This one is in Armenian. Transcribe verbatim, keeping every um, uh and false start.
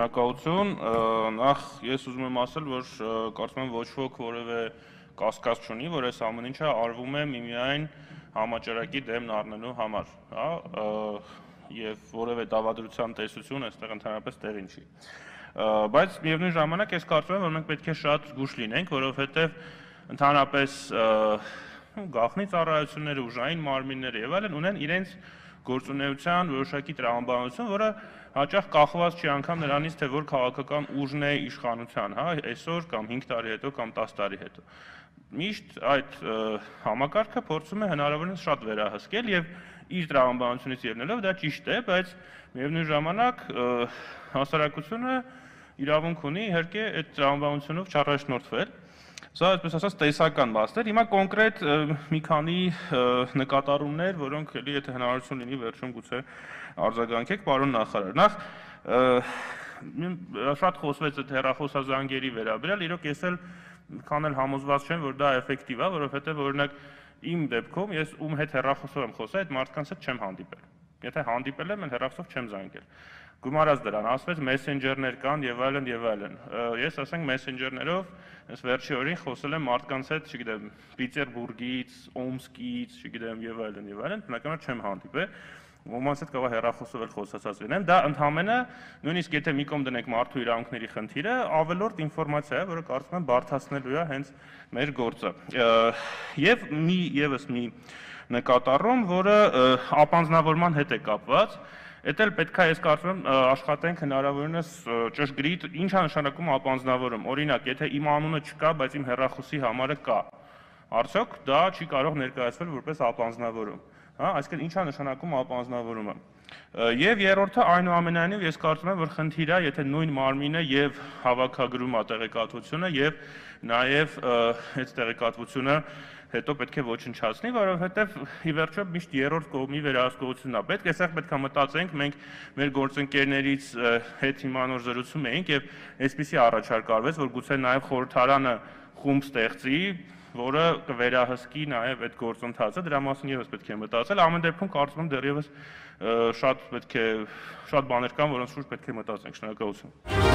Շնորհակալություն, նախ ես ուզում եմ ասել, որ կարծում եմ ոչ ոք որևէ կասկած չունի, որ այս ամեն ինչը արվում է միմիայն համաճարակի դեմն առնելու համար, հա, եւ որևէ դավադրության տեսություն այստեղ ընդհանրապես տեղին չի։ Բայց միևնույն ժամանակ ես կարծում եմ, որ մենք պետք է շատ զգուշ լինենք, որովհետեւ ընդհանրապես գաղտնի ծառայությունները, ուժային մարմինները եւ այլն ունեն իրենց գործունեության որոշակի տրամաբանություն, որը հաճախ կախված չի անգամ նրանից, թե որ քաղաքական ուժն է իշխանության, հա, այսօր կամ հինգ տարի հետո կամ տասը տարի հետո։ Միշտ այդ համակարգը փորձում է հնարավորինս շատ վերահսկել եւ իր տրամաբանությունից ելնելով դա ճիշտ է, բայց միևնույն ժամանակ հասարակությունը իրավունք ունի իհարկե այդ տրամաբանությունով չառաջնորդվել։ Սա այսպես ասած տեսական մասն էր։ Հիմա կոնկրետ մի քանի նկատառումներ, որոնք էլի եթե հնարավորություն լինի վերջում գուցե արձագանքեք, պարոն նախարար։ Նախ շատ խոսվեց այդ հեռախոսազանգերի վերաբերյալ, իրոք ես էլ քան էլ համոզված չեմ, որ դա էֆեկտիվ է, որովհետև օրինակ իմ դեպքում ես ում հետ հեռախոսով եմ խոսել, այդ մարդկանց հետ չեմ հանդիպել։ Եթե հանդիպել եմ, հեռախոսով չեմ զանգել։ Գումարած դրան, ասվեց մեսենջերներ կան եւ այլն եւ այլն։ Ես ասենք մեսենջերներով այս վերջի օրին խոսել եմ մարդկանց հետ, չգիտեմ, Պիտերբուրգից, Օմսկից, չգիտեմ եւ այլն եւ այլն, բնականաբար չեմ հանդիպել։ Ոմանց հետ կարող հեռախոսով էլ խոսացած լինեմ։ Դա ընդհանրապես նույնիսկ եթե մի կողմ դնենք մարդու իրավունքների խնդիրը, ավելորդ ինֆորմացիա է, որը կարծում եմ բարդացնելու է հենց մեր գործը։ Եվ մի եւս մի նկատառում, որը ապանձնավորման հետ է կապված, Էդ էլ պետք է ես կարծում եմ աշխատենք հնարավորինս ճշգրիտ ինչ է նշանակում ապանձնավորում։ Օրինակ, եթե իմ անունը չկա, բայց իմ հեռախոսի համարը կա, արդյոք դա չի կարող ներկայացվել որպես ապանձնավորում, հա, այսինքն ինչ է նշանակում ապանձնավորումը։ Եվ երրորդը այնուամենայնիվ ես կարծում եմ, որ խնդիր է, եթե նույն մարմինը եւ հավաքագրում է տեղեկատվությունը եւ նաեւ այդ տեղեկատվությունը հետո պետք է ոչնչացնի, որովհետև ի վերջո միշտ երրորդ կողմի վերահսկողությունն է պետք, այստեղ պետք է մտածենք, մենք մեր գործընկերներից հետ հիմա նոր զրուցում էինք եւ այսպեսի առաջարկ արվեց, որ գուցե նաեւ խորհրդարանը խումբ ստեղծի, որը կվերահսկի նաեւ այդ գործընթացը, դրա մասին եւս պետք է մտածել, ամեն դեպքում կարծում եմ դեռևս շատ պետք է շատ բաներ կան, որոնց շուրջ պետք է մտածենք, շնորհակալություն։